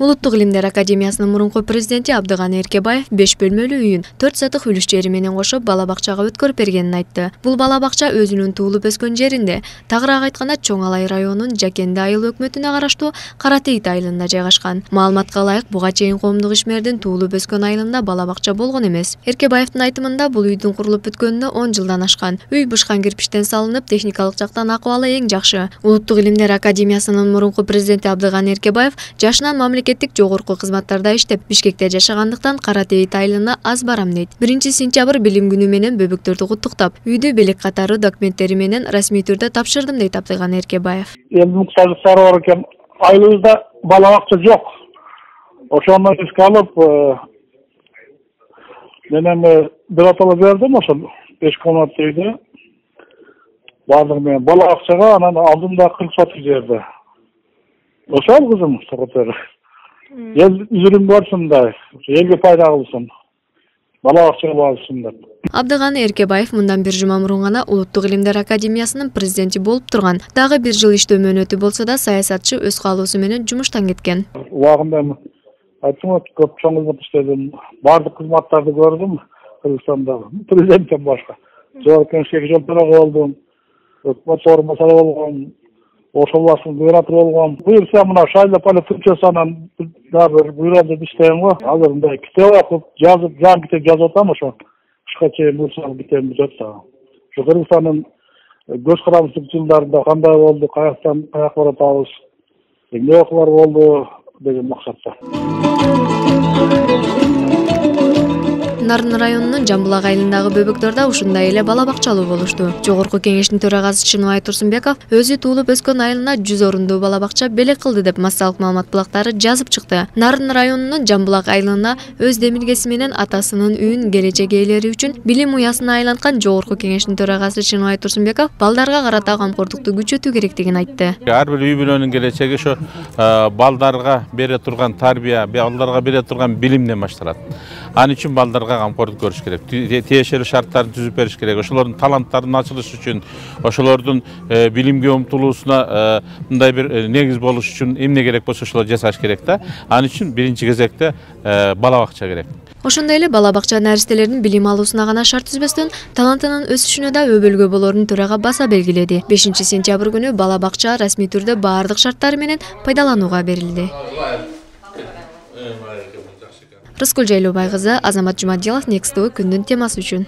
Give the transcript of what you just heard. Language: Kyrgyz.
Улуттук илимдер академиясынын мурунку президенти Абдыган Эркебаев 5 бөлмөлүү үйүн 4 сатык үлүш жери менен кошуп бала бакчага өткөрүп бергенин айтты. Бул бала бакча өзүнүн туулуп өскөн жеринде, тагыраак айтканда Чоң Алай районунун Жакенди айыл өкмөтүнө караштуу Каратейит айылында жайгашкан. Маалыматка ылайык, буга чейин коомдук ишмердин туулуп өскөн айылында бала бакча болгон эмес. Эркебаевдин айтымында бул үйдүн курулуп бүткөнүнө 10 жылдан ашкан. Үй бышкан кирпичтен салынып, техникалык жактан акыбалы эң жакшы. Улуттук илимдер академиясынын мурунку президенти Абдыган Эркебаев жашынан мамлекеттик жогорку кызматтарда иштеп, Бишкекте жашагандыктан Каратейит айылына аз барам дейт. 1-сентябрь билим күнү менен бөбөктөрдү куттуктап, үйдү белек катары документтери менен расмий түрдө тапшырдым дейт Абдыган Эркебаев. Элдин муктаждыктары бар экен. Айылыбызда бала бакча жок. Ошону эске алып, менен биротоло бердим ошол 5 комнатты үйдү. Бардыгы менен бала бакчага, анан алдымда 40 соток жерди. Ошол кызым сокотор. Ел üzülüm болсун да, элге пайда кылсын. Бала бакчага барсын деп. Абдыган Эркебаев мындан бир жума мурун гана Улуттук илимдер академиясынын президенти болуп турган. Дагы 1 жыл иштөө мөөнөтү болсо да, саясатчы өз каалоосу менен жумуштан кеткен. Убагында айттым, көп чоң кызмат иштедим. Бардык кызматтарды көрдүм Кыргызстанда. Президенттен башка. Жогорку кеңешке жолторого болдум. Өкмөт орунбасары болгом. Ошол басын губернатор болгом. Буюрса мына Шайло политикасынан дагы буйрууда иштейм го. Азыр мындай китеп окуп, жазып, жан китеп жазып атам ошо. Кышка чейин буйрса китебим бүтөт да. Ошо Кыргызстандын көз карандык жылдарында кандай болду, каяктан каяк баратабыз, эмне окуулар болду деген максатта. Нарын районунун Жамбулак айылындагы бөбөктөр да ушундай эле бала бакчалуу болушту. Жогорку кеңештин төрагасы Чыныбай Турсунбеков өзү туулуп өскөн айылына 100 орундуу бала бакча белек кылды деп массалык маалымат булактары жазып чыкты. Нарын районунун Жамбулак айылына өз демилгеси менен атасынын үйүн келечек ээлери үчүн билим уясына айланткан Жогорку кеңештин төрагасы Чыныбай Турсунбеков балдарга карата камкордукту күчөтүү керектигин айтты. Ар бир үй бүлөнүн келечеги ошо балдарга бере турган тарбия, балдарга бере турган билимден башталат. Анын үчүн балдарга камкордук көрүш керек. Тиешелүү шарттарды түзүп бериш керек. Ошолордун таланттарынын ачылышы үчүн, ошолордун билимге умтулуусуна мындай бир негиз болуш үчүн эмне керек болсо ошолорду жасаш керек да. Анын үчүн биринчи кезекте бала бакча керек. Ошондой эле бала бакча наристелердин билим алуусуна гана шарт түзбөстөн талантынын өсүшүнө да өбөлгө болорун төрага баса белгиледи. 5-сентябрь күнү бала бакча расмий түрдө баардык шарттары менен пайдаланууга берилди. Рыскүл Жайлообай кызы, Азамат Жумадилов, Next TV күндүн темасы үчүн.